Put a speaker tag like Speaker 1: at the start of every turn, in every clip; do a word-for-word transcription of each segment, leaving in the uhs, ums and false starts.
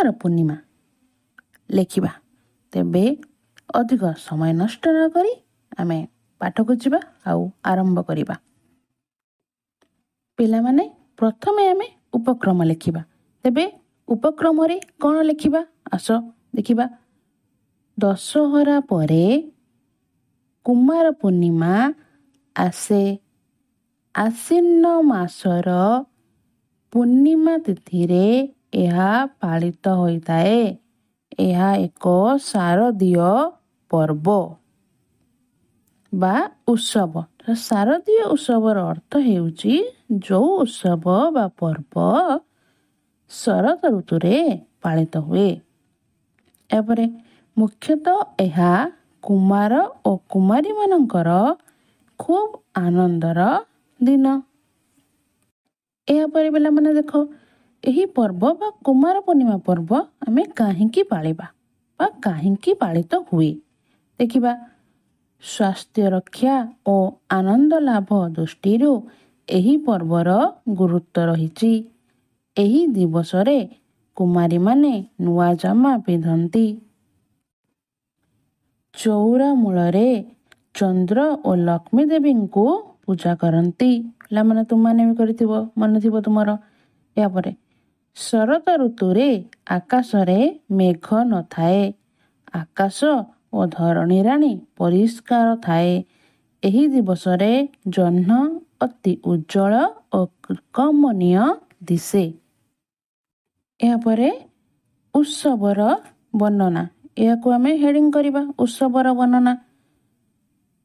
Speaker 1: କୁମାର ପୂର୍ଣ୍ଣିମା ଲେଖିବା। ତେବେ ଅଧିକ ସମୟ ନଷ୍ଟ ନ କରି ଆମେ ପାଠକୁ ଯିବା ଆଉ ଆରମ୍ଭ କରିବା। ପିଲାମାନେ, ପ୍ରଥମେ ଆମେ ଉପକ୍ରମ ଲେଖିବା। ତେବେ ଉପକ୍ରମରେ କ'ଣ ଲେଖିବା, ଆସ ଦେଖିବା। ଦଶହରା ପରେ କୁମାର ପୂର୍ଣ୍ଣିମା ଆସେ। ଆଶ୍ୱିନ ମାସର ପୂର୍ଣ୍ଣିମା ତିଥିରେ ଏହା ପାଳିତ ହୋଇଥାଏ। ଏହା ଏକ ଶାରଦୀୟ ପର୍ବ ବା ଉତ୍ସବ। ଶାରଦୀୟ ଉତ୍ସବର ଅର୍ଥ ହେଉଛି ଯେଉଁ ଉତ୍ସବ ବା ପର୍ବ ଶରତ ଋତୁରେ ପାଳିତ ହୁଏ। ଏହାପରେ ମୁଖ୍ୟତଃ ଏହା କୁମାର ଓ କୁମାରୀମାନଙ୍କର ଖୁବ୍ ଆନନ୍ଦର ଦିନ। ଏହାପରେ ପିଲାମାନେ ଦେଖ, ଏହି ପର୍ବ ବା କୁମାର ପୂର୍ଣ୍ଣିମା ପର୍ବ ଆମେ କାହିଁକି ପାଳିବା ବା କାହିଁକି ପାଳିତ ହୁଏ ଦେଖିବା। ସ୍ୱାସ୍ଥ୍ୟ ରକ୍ଷା ଓ ଆନନ୍ଦ ଲାଭ ଦୃଷ୍ଟିରୁ ଏହି ପର୍ବର ଗୁରୁତ୍ୱ ରହିଛି। ଏହି ଦିବସରେ କୁମାରୀମାନେ ନୂଆ ଜାମା ପିନ୍ଧନ୍ତି। ଚଉରା ମୂଳରେ ଚନ୍ଦ୍ର ଓ ଲକ୍ଷ୍ମୀ ଦେବୀଙ୍କୁ ପୂଜା କରନ୍ତି। ପିଲାମାନେ, ତୁମମାନେ ବି କରିଥିବ, ମନେ ଥିବ ତୁମର। ଏହାପରେ ଶରତ ଋତୁରେ ଆକାଶରେ ମେଘ ନଥାଏ। ଆକାଶ ଓ ଧରଣୀ ରାଣୀ ପରିଷ୍କାର ଥାଏ। ଏହି ଦିବସରେ ଜହ୍ନ ଅତି ଉଜ୍ଜ୍ୱଳ ଓ କମନୀୟ ଦିଶେ। ଏହାପରେ ଉତ୍ସବର ବର୍ଣ୍ଣନା, ଏହାକୁ ଆମେ ହେଡ଼ିଂ କରିବା, ଉତ୍ସବର ବର୍ଣ୍ଣନା।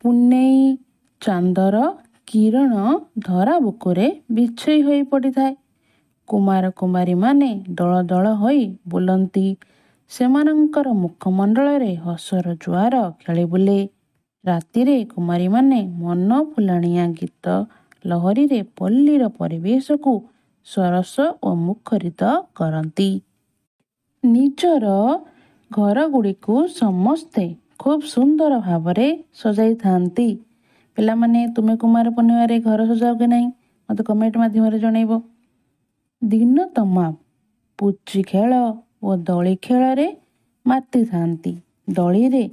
Speaker 1: ପୁନେଇ ଚାନ୍ଦର କିରଣ ଧରା ବୁକୁରେ ବିଛେଇ ହୋଇ ପଡ଼ିଥାଏ। କୁମାର କୁମାରୀମାନେ ଦଳ ଦଳ ହୋଇ ବୁଲନ୍ତି। ସେମାନଙ୍କର ମୁଖମଣ୍ଡଳରେ ହସର ଜୁଆର ଖେଳି ବୁଲେ। ରାତିରେ କୁମାରୀମାନେ ମନ ଫୁଲାଣିଆ ଗୀତ ଲହରୀରେ ପଲ୍ଲୀର ପରିବେଶକୁ ସରସ ଓ ମୁଖରିତ କରନ୍ତି। ନିଜର ଘରଗୁଡ଼ିକୁ ସମସ୍ତେ ଖୁବ୍ ସୁନ୍ଦର ଭାବରେ ସଜାଇଥାନ୍ତି। ପିଲାମାନେ, ତୁମେ କୁମାର ପୂର୍ଣ୍ଣିମାରେ ଘର ସଜାଅ କି ନାହିଁ, ମୋତେ କମେଣ୍ଟ ମାଧ୍ୟମରେ ଜଣାଇବ। ଦିନ ତମାମ ପୁଚି ଖେଳ ଓ ଦୋଳି ଖେଳରେ ମାତିଥାନ୍ତି। ଦୋଳିରେ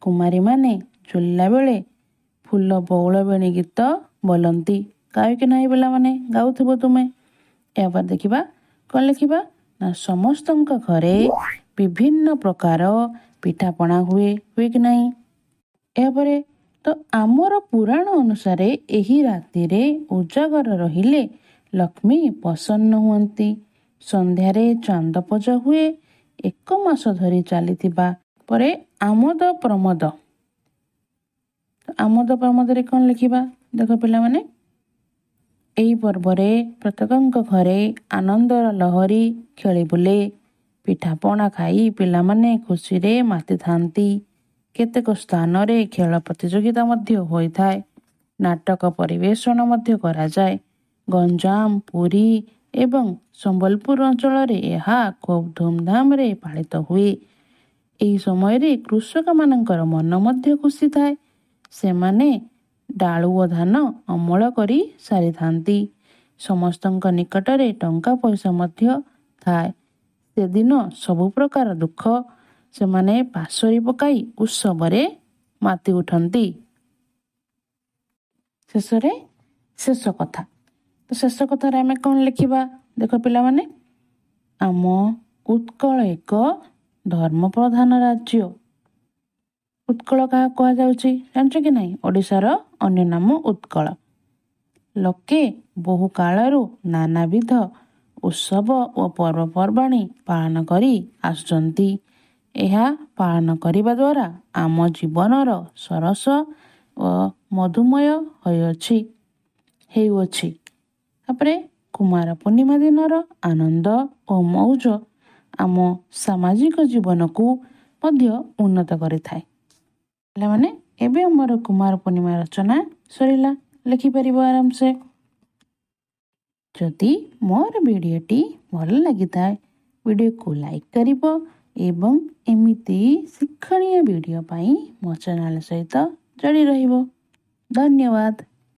Speaker 1: କୁମାରୀମାନେ ଝୁଲିଲା ବେଳେ ଫୁଲ ବଉଳ ବେଣୀ ଗୀତ ବୋଲନ୍ତି। ଗାଅ କି ନାହିଁ ପିଲାମାନେ? ଗାଉଥିବ ତୁମେ। ଏହାପରେ ଦେଖିବା କ'ଣ ଲେଖିବା ନା, ସମସ୍ତଙ୍କ ଘରେ ବିଭିନ୍ନ ପ୍ରକାର ପିଠାପଣା ହୁଏ। ହୁଏ କି ନାହିଁ? ଏହାପରେ ତ ଆମର ପୁରାଣ ଅନୁସାରେ ଏହି ରାତିରେ ଉଜାଗର ରହିଲେ ଲକ୍ଷ୍ମୀ ପ୍ରସନ୍ନ ହୁଅନ୍ତି। ସନ୍ଧ୍ୟାରେ ଚାନ୍ଦ ପୂଜା ହୁଏ। ଏକ ମାସ ଧରି ଚାଲିଥିବା ପରେ ଆମୋଦ ପ୍ରମୋଦ। ଆମୋଦ ପ୍ରମୋଦରେ କ'ଣ ଲେଖିବା ଦେଖ ପିଲାମାନେ। ଏହି ପର୍ବରେ ପ୍ରତ୍ୟେକଙ୍କ ଘରେ ଆନନ୍ଦର ଲହରୀ ଖେଳି ବୁଲେ। ପିଠାପଣା ଖାଇ ପିଲାମାନେ ଖୁସିରେ ମାତିଥାନ୍ତି। କେତେକ ସ୍ଥାନରେ ଖେଳ ପ୍ରତିଯୋଗିତା ମଧ୍ୟ ହୋଇଥାଏ। ନାଟକ ପରିବେଷଣ ମଧ୍ୟ କରାଯାଏ। ଗଞ୍ଜାମ, ପୁରୀ ଏବଂ ସମ୍ବଲପୁର ଅଞ୍ଚଳରେ ଏହା ଖୁବ୍ ଧୁମଧାମରେ ପାଳିତ ହୁଏ। ଏହି ସମୟରେ କୃଷକମାନଙ୍କର ମନ ମଧ୍ୟ ଖୁସି ଥାଏ। ସେମାନେ ଡାଳୁଅ ଧାନ ଅମଳ କରି ସାରିଥାନ୍ତି। ସମସ୍ତଙ୍କ ନିକଟରେ ଟଙ୍କା ପଇସା ମଧ୍ୟ ଥାଏ। ସେଦିନ ସବୁ ପ୍ରକାର ଦୁଃଖ ସେମାନେ ପାଶୋରି ପକାଇ ଉତ୍ସବରେ ମାତି ଉଠନ୍ତି। ଶେଷରେ ଶେଷ କଥା। ତ ଶେଷ କଥାରେ ଆମେ କ'ଣ ଲେଖିବା ଦେଖ ପିଲାମାନେ। ଆମ ଉତ୍କଳ ଏକ ଧର୍ମ ପ୍ରଧାନ ରାଜ୍ୟ। ଉତ୍କଳ କାହାକୁ କୁହାଯାଉଛି ଜାଣିଛ କି ନାହିଁ? ଓଡ଼ିଶାର ଅନ୍ୟ ନାମ ଉତ୍କଳ। ଲୋକେ ବହୁ କାଳରୁ ନାନାବିଧ ଉତ୍ସବ ଓ ପର୍ବପର୍ବାଣୀ ପାଳନ କରି ଆସୁଛନ୍ତି। ଏହା ପାଳନ କରିବା ଦ୍ୱାରା ଆମ ଜୀବନର ସରସ ଓ ମଧୁମୟ ହୋଇଅଛି ହେଉଅଛି। ତାପରେ କୁମାର ପୂର୍ଣ୍ଣିମା ଦିନର ଆନନ୍ଦ ଓ ମଉଜ ଆମ ସାମାଜିକ ଜୀବନକୁ ମଧ୍ୟ ଉନ୍ନତ କରିଥାଏ। ପିଲାମାନେ, ଏବେ ଆମର କୁମାର ପୂର୍ଣ୍ଣିମା ରଚନା ସରିଲା। ଲେଖିପାରିବ ଆରାମସେ। ଯଦି ମୋର ଭିଡ଼ିଓଟି ଭଲ ଲାଗିଥାଏ, ଭିଡ଼ିଓକୁ ଲାଇକ୍ କରିବ ଏବଂ ଏମିତି ଶିକ୍ଷଣୀୟ ଭିଡ଼ିଓ ପାଇଁ ମୋ ଚ୍ୟାନେଲ୍ ସହିତ ଯୋଡ଼ି ରହିବ। ଧନ୍ୟବାଦ।